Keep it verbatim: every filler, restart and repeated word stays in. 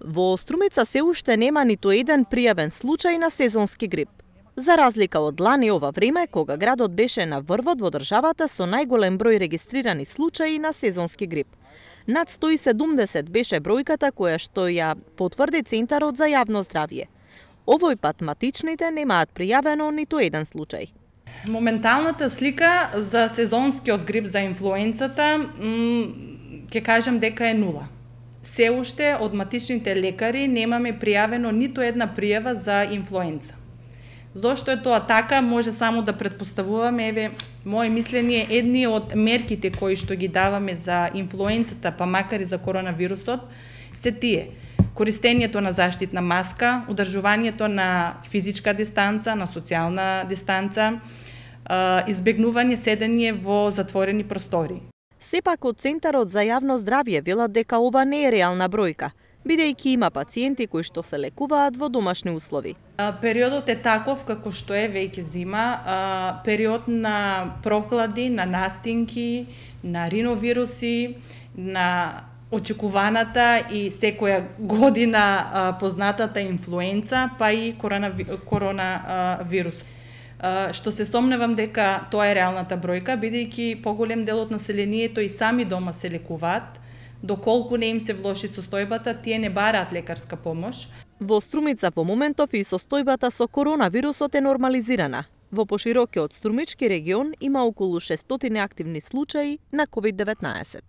Во Струмица се уште нема ниту еден пријавен случај на сезонски грип. За разлика од лани ова време, кога градот беше на врвот во државата со најголем број регистрирани случаи на сезонски грип. Над сто и седумдесет беше бројката која што ја потврди Центарот за јавно здравје. Овој пат матичните немаат пријавено ниту еден случај. Моменталната слика за сезонскиот грип, за инфлуенцата, ќе кажам дека е нула. Се уште од матичните лекари немаме пријавено ниту една пријава за инфлуенца. Зошто е тоа така, може само да предпоставуваме, еве, моје мислење, едни од мерките кои што ги даваме за инфлуенцата, па макар и за коронавирусот, се тие: користењето на заштитна маска, одржувањето на физичка дистанца, на социјална дистанца, избегнување седење во затворени простори. Сепак од Центарот за јавно здравје велат дека ова не е реална бројка, бидејќи има пациенти кои што се лекуваат во домашни услови. Периодот е таков како што е веќе зима, период на прохлади, на настинки, на риновируси, на очекуваната и секоја година познатата инфлуенца, па и коронавирус. Што се сомневам дека тоа е реалната бројка, бидејќи поголем дел од населението и сами дома се лекуваат, доколку не им се влоши состојбата, тие не бараат лекарска помош. Во Струмица во моментов и состојбата со коронавирусот е нормализирана. Во поширокиот струмички регион има околу шестстотини активни случаи на ковид деветнаесет.